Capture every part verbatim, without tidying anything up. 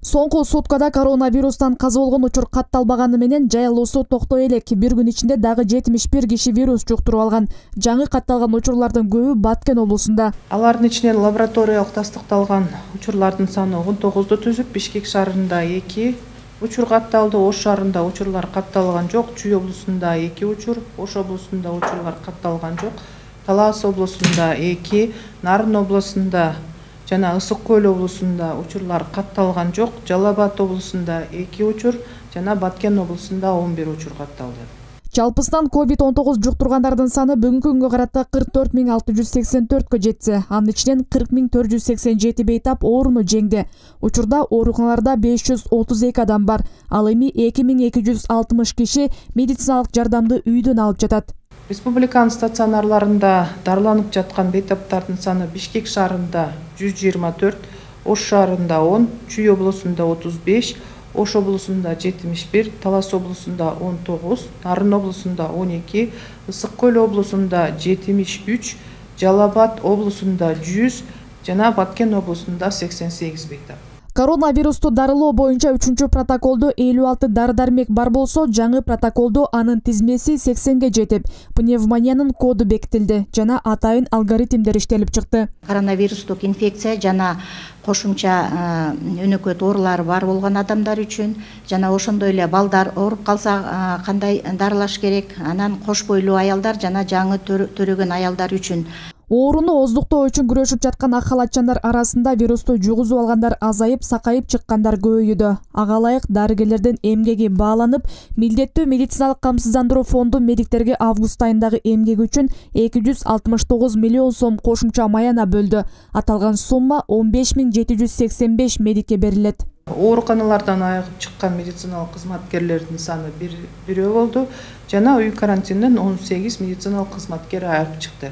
Соңку суткада коронавирустан каза болгон учур катталбаганы менен жайылуусу токтой элек. Бир күн ичинде дагы жетимиш бир киши вирус жуктуруп алган. Жаңы катталган учурлардын көбү Баткен облусунда. Алардын ичинен лабораториялык тастыкталган учурлардын саны он тогузду түзүп, Бишкек шаарында эки учур катталды, Ош шаарында учурлар катталган жок, Чүй облусунда эки учур, Ош облусунда учурлар катталган жок, Талас облусунда эки, Нарын облусунда жана Ысык көл облусунда учурлар катталган жок, Жалал Абад облусунда эки учур жана Баткен облусунда он бир учур катталды. Жалпысынан ковид он тогуз жуктургандардын саны бүгүнкү күнгө карата кырк төрт миң алты жүз сексен төрткө жетсе, анын ичинен кырк миң төрт жүз сексен жети бейтап ооруну жеңди. Учурда ооруканаларда беш жүз отуз эки адам бар, ал эми эки миң эки жүз алтымыш киши медициналык жардамды үйдөн алып жатат. Республиканын стационарларында дарыланып жаткан бейтаптардын саны Бишкек шаарында жүз жыйырма төрт, Ош шаарында он, Чүй облусунда отуз беш, Ош облусунда жетимиш бир, Талас облусунда он тогуз, Нарын облусунда он эки, Ысык көл облусунда жетимиш үч, Жалал Абад облусунда жүз жана Баткен облусунда сексен сегиз бейтап. Коронавирусту дарылоо боюнча үчүнчү протоколдо элүү алты дары-дармек бар болсо, жаңы протоколдо анын тизмеси сексенге жетип, пневмониянын коду бекитилди жана атайын алгоритмдер иштелип чыкты. Коронавирустук инфекция жана кошумча өнөкөт оорулары бар болгон адамдар үчүн жана ошондой эле балдар ооруп калса кандай дарылаш керек, анан кош бойлуу аялдар жана жаңы төрөгөн аялдар үчүн. Ооруну оздуктоо үчүн күрөшүп жаткан ак халатчандар арасында вирусту жугузуп алгандар азайып, сакайып чыккандар көбөйүүдө. Ага ылайык дарыгерлердин эмгеги бааланып, милдеттүү медициналык камсыздандыруу фонду медиктерге август айындагы эмгеги үчүн эки жүз алтымыш тогуз миллион сом кошумча маяна бөлдү. Аталган сумма он беш миң жети жүз сексен беш медикке берилет. Ооруканалардан айыгып чыккан медициналык кызматкерлердин саны бирөө болду жана үй карантинден он сегиз медициналык кызматкер айыгып чыкты.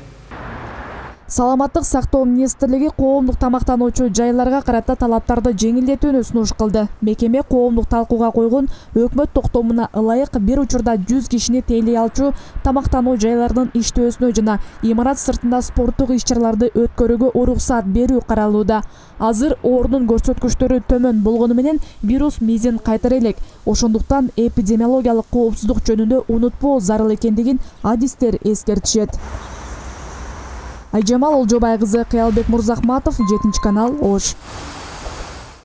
Саламаттык сактоо министрлиги коомдук тамактануучу жайларга карата талаптарды жеңилдетүүнү сунуш кылды. Мекеме коомдук талкууга койгон өкмөт токтомуна ылайык бир учурда жүз кишини тейлей алчу тамактануу жайларынын иштөөсүнө жана имарат сыртында спорттук иш-чараларды өткөрүүгө уруксат берүү каралууда. Азыр оорунун көрсөткүчтөрү төмөн болгону менен вирус мизин кайтара элек. Ошондуктан эпидемиологиялык коопсуздук жөнүндө унутпоо зарыл экендигин адистер эскертишет. Айжамал Олжобай кызы, Кыялбек Мурзахматов, жетинчи канал, Ош.